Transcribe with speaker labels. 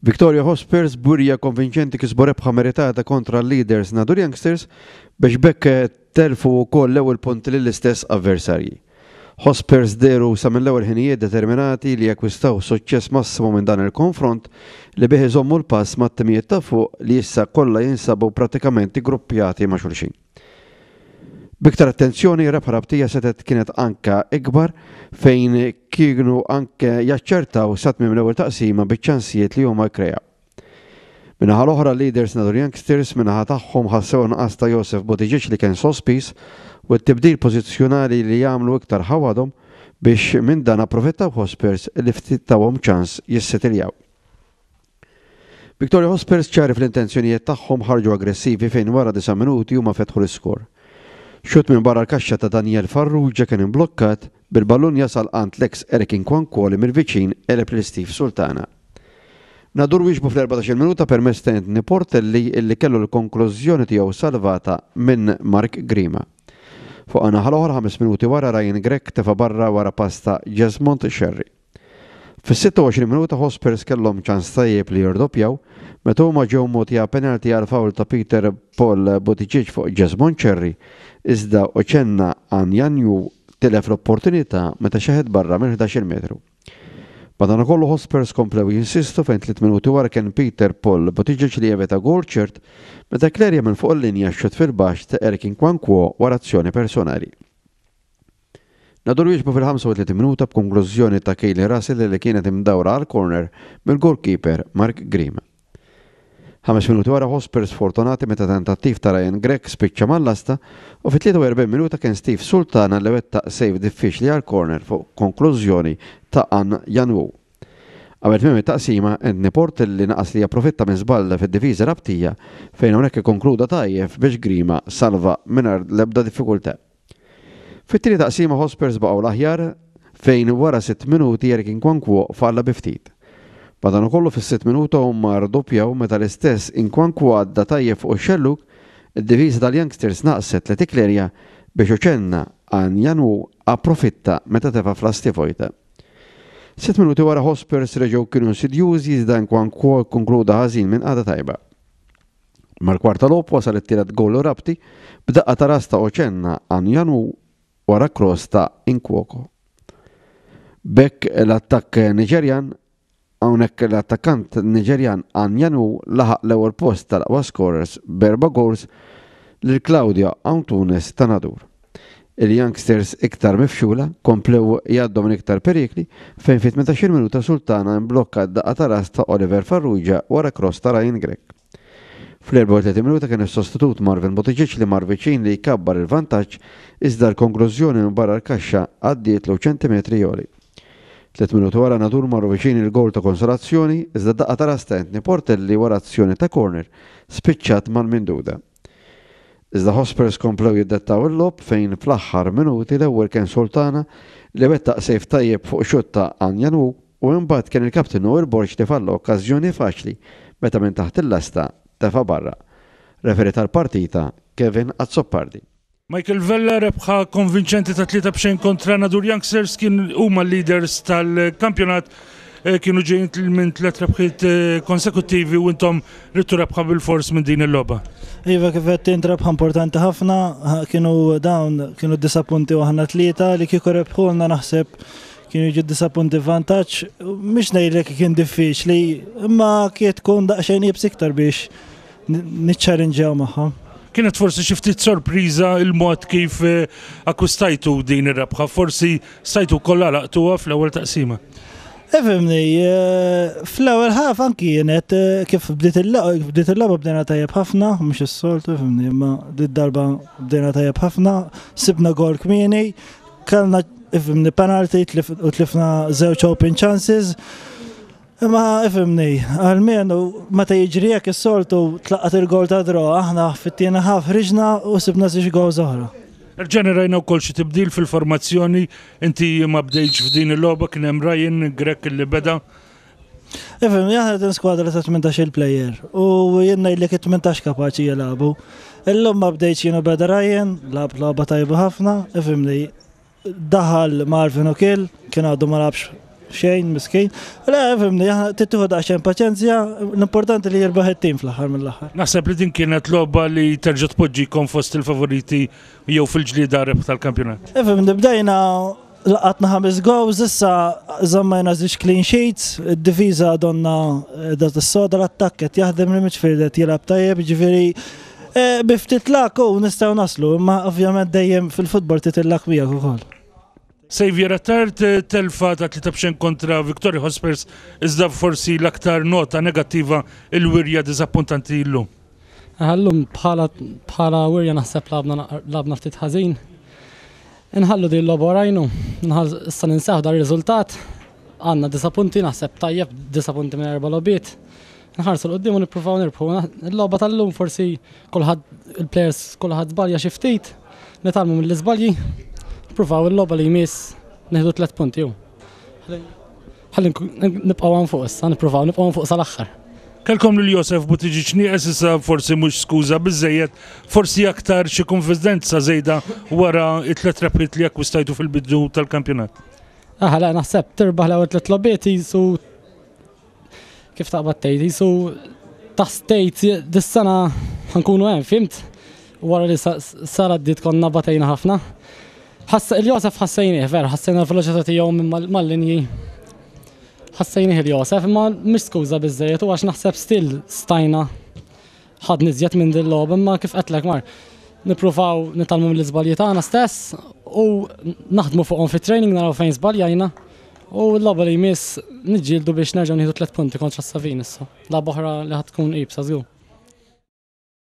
Speaker 1: Victoria Hotspurs b'wirja konvinċenti kisbu rebħa meritata kontra l-leaders Nadur Youngsters biex b'hekk telfu wkoll l-ewwel punti lill-istess avversarji. Hotspurs dehru sa mill-ewwel ħinijiet determinati li jakkwistaw suċċess massimu minn dan il-konfront li bih iżommu l-pass mat-timijiet ta' fuq li issa kollha jinsabu prattikament iggruppjati ma' xulxin. B'iktar attenzjoni, rebħa Rabtija setgħet kienet anke ikbar fejn kienu anke jaċċertaw sa tmiem l-ewwel taqsima biċ-ċansijiet li huma kkreaw. Min-naħa l-oħra l-leaders Nadur Youngsters min-naħa tagħhom ħassew in-nuqqas ta' Josef Buttigieg li kien sospiż u t-tibdil pożizzjonali li għamlu iktar ħawadhom biex minn dan approfittaw Hotspurs li ftit tawhom ċans jissetiljaw. Victoria Hotspurs ċari fl-intenzjonijiet tagħhom ħarġu aggressivi fejn wara disa' minuti huma fetħu l-iskor. Xutt minn barra l-kaxxa ta' Daniel Farrugia kien imblokkat, bil-ballun jasal għand l-eks Eric Nkwankwo li mill-viċin għeleb lil Steve Sultana. Nadur wieġbu fl-14-il minuta permezz ta' Anthony Portelli illi kellu l-konklużjoni tiegħu salvata minn Mark Grima. Fuq naħa l-oħra ħames minuti wara Ryan Grech tefa' barra wara pass ta' Jesmond Scerri. Fis-26 minuta Hotspurs kellhom ċans tajjeb li jirdoppjaw meta huma ġew mogħtija penalty għal foul ta' Peter Paul Buttigieg fuq Jesmond Cherry iżda Uchenna Anyanwu tilef l-opportunità meta xeħet barra mill-ħdax-il metru. Madankollu Hotspurs komplew jinsistu fejn tliet minuti wara kien Peter Paul Buttigieg li evita goal ċert meta kklerja minn fuq il-linja x-xutt fil-baxx ta' Eric Nkwankwo wara azzjoni personali. Nadur wieġbu fil-35 minuta b'konklużjoni ta' Kayleigh Russell li kienet imdawra għal corner mill-goalkeeper Mark Grima. Ħames minuti wara Hotspurs sfortunati meta tentattiv ta' Ryan Grech spiċċa mal-lasta u fit-43 minuta kien Steve Sultana li wettaq save diffiċli għal corner fuq konklużjoni ta' An Yan-woo. Qabel tmiem it-taqsima, Anthony Portelli naqas li japprofitta minn żball fid-difiża Rabtija fejn hawnhekk ikkonkluda tajjeb biex Grima salva mingħajr l-ebda diffikultà. Fit-tieni taqsima Hotspurs baqgħu l-aħjar fejn wara sitt minuti Eric Nkwankwo falla bi ftit. Madankollu fis-sitt minuta huma rdoppjaw meta l-istess Nkwankwo għadda tajjeb fuq ix-xellug, id-difiża tal-Youngsters naqset li tikklerja biex Uchenna Anyanwu approfitta meta tefa' f'lasti vojta. Sitt minuti wara Hotspurs reġgħu kienu insidjużi iżda Nkwankwo kkonkluda ħażin minn qagħda tajba. Mal-kwarta logħob wasal it-tielet gowl Rabti b'daqqa ta' ras ta' Ocenna Anyanwu wara cross ta' Nkwoko. B'hekk l-attakk Niġerjan hawnhekk l-attakkant Niġerjan Anyanwu laħaq l-ewwel post tal-aqwa scorers b'erba' goals lil Claudio Antunes ta' Nadur. Il-Youngsters iktar mifxula komplew jgħaddu minn iktar perikli fejn fit-18-il minuta Sultana imblokka d-daqqa ta' ras ta' Oliver Farrugia wara cross ta' Ryan Grech. Fl-34 minuta kien is-sostitut Marvin Buttigieg li mar viċin li jkabbar il-vantaġġ iżda l-konklużjoni minn barra l-kaxxa għaddietlu ċentimetri għoli. Tliet minuti wara Nadur marru viċin il-gowl ta' konsolazzjoni iżda d-daqqa ta' ras ta' Anthony Portelli wara azzjoni ta' corner spiċċat mal-minduda. Iżda Hotspurs komplew jiddettaw il-logħob fejn fl-aħħar minuti l-ewwel kien Sultana li wettaq save tajjeb fuq xutt ta' Anyanwu u imbagħad kien il-kapten Noel Borg li falla okkażjoni faċli meta minn taħt il-lasta tefa' barra. Referee tal-partita Kevin Azzopardi.
Speaker 2: Michael Vella rebħa konvinċenti ta' 3 b'xejn kontra Nadur Youngsters kien huma l-leaders tal-kampjonat eh, kienu ġejjin minn tliet rebħiet eh, konsekuttivi u intom ridtu rebħa bil-fors minn din il-logħba.
Speaker 3: Iva kif qed int rebħa importanti ħafna, kienu dawn kienu disa punti u aħna tlieta li kieku rebħulna naħseb kienu jiġu disa punti vantaġġ, mhix ngħidlek kien diffiċli, imma kien tkun daqsxejn iebs iktar biex niċċarinġjaw magħhom.
Speaker 2: Kienet forsi xi ftit sorpriża il-mod kif eh, akkwistajtu din ir-rebħa, forsi stajtu wkoll għalaqtuha fl-ewwel taqsima.
Speaker 3: Ifimni, eh, fl-ewwel ħaf anki kienet eh, kif bdiet il-logħba bdejna tajjeb ħafna, mhux is-soltu, ifimni, imma did-darba bdejna tajjeb ħafna, sibna gol kmieni, kellna ifimni penalty u tlifna żewġ open chances. Imma ifhimni, almenu meta jiġri hekk is-soltu tlaqqat il-gowl ta' draw, aħna fit-tieni half ħriġna u sibna żewġ gowls oħra.
Speaker 2: Erġajna rajna wkoll xi tibdil fil-formazzjoni, inti ma bdejtx f'din il-logħba kien hemm Ryan Grech li beda.
Speaker 3: Ifhimni, aħna din skwadra ta' 18-il plejer u jien ngħidlek it-18 kapaċi jilagħbu. Illum ma bdejtx jien u beda Ryan, lagħab logħba tajba ħafna, ifhimni, Daħal Marvin O'Kill, kien għadu ma lagħabx Xejn, miskin. Le, fimni, tittuħu daqsxejn paċenzja, l-importanti li jirbaħ it-tim fl-aħħar mill-aħħar.
Speaker 2: Naħseb li din kienet logħba li terġa' tpoġġikom fost il-favoriti jew fil-ġlieda rebħ tal-kampjonat.
Speaker 3: Ifhem, bdejna laqatna ħames goals, issa żammajna żewġ clean sheets, id-difiża donna eh, da s-soda l-attakk qed jaħdem li midfield qed jilgħab tajjeb, ġifieri eh, bi ftit lak u nistgħu naslu, imma ovvjament dejjem fil-futbol titillak miegħek ukoll.
Speaker 2: Xavier Attard telfa ta' 3 kontra Victoria Hotspurs iżda forsi l-aktar nota negattiva il-wirja diżappuntanti llum.
Speaker 4: Llum bħala bħala wirja naħseb lgħabna ftit ħażin. Inħallu din logħba warajna, issa ninsew dar-riżultat. Għandna disa' punti naħseb tajjeb disa' punti minn erba' logħbiet. Nħarsu 'l quddiem u nippruvaw nirbħu. Il-logħba tal-lum forsi kulħadd il-players kulħadd żbalja xi ftit, nitgħallmu mill-iżbalji, nippruvaw il-logħba li jmiss nieħdu tliet punti hu. Ħalli nibqgħu hawn fuq issa, nippruvaw nibqgħu fuq sal-aħħar.
Speaker 2: Kellkom lil Josef Buttigieg nieqes issa forsi mhux skuża biżejjed, forsi aktar xi konfidenza żejda wara it-tliet rebħiet li akkwistajtu fil-bidu tal-kampjonat.
Speaker 4: Aħ, le, naħseb tirbaħ l-ewwel tliet logħbiet jisu kif taqbad tgħid, jisu taħseb dis-sena ħa nkunu hemm, fhimt? Wara li sara d konna batejna ħafna. Il-Josef ħassejnieh, vera, ħassejna l-veloċità tiegħu minn mal-linji. Ħassejnieh il-Josef, imma mhix skuża biżejjed u għax naħseb still stajna ħadna iżjed minn din logħba, imma kif qedlek mar. Nippruvaw nitgħallmu mill-iżbalji tagħna stess u naħdmu fuqhom fit-training naraw fejn żbaljajna u l-logħba li jmiss niġġieldu biex nerġgħu nieħdu tliet punti kontra s-Savin issa. Logħba oħra li ħa tkun iebsa żgur.